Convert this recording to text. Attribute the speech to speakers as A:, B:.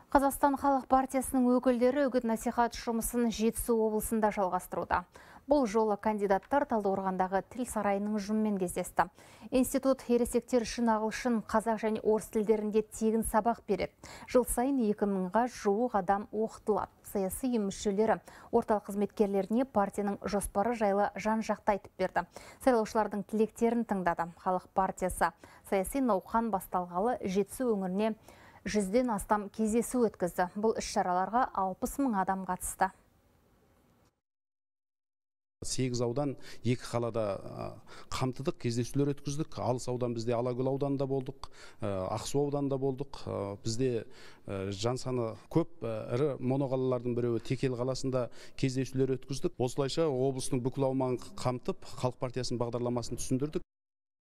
A: Қазақстан Халық партиясының өкілдері үгіт-насихат жұмысын Жетісу облысында жалғастыруда. Бұл жолы кандидаттар Талдықорғандағы тіл сарайының ұжымымен кездесті. Институт ересектер үшін ағылшын, қазақ және орыс тілдерінде тегін сабақ береді. Жыл сайын 2000-ға жуық адам оқытылады. Саяси ұйым мүшелері орталық қызметкерлеріне партияның жоспары жайлы жан-жақты айтып берді. Сайлаушылардың тілектерін тыңдады. Халық партиясы саяси науқан басталғалы Жетісу өңіріне 100-ден астам кездесу өткізді. Бұл іс-шараларға 60 мың адам қатысты.
B: 8 аудан 2 қалада қамтыдық, кездесулер өткіздік. Алыс аудан бізде Алакөл ауданында болдық, Ақсу ауданында болдық. Бізде жан саны көп ірі моноқалалардың біреуі Текел қаласында кездесулер өткіздік. Осылайша облыстың бүкіл аумағын қамтып, Халық партиясының бағдарламасын түсіндірдік.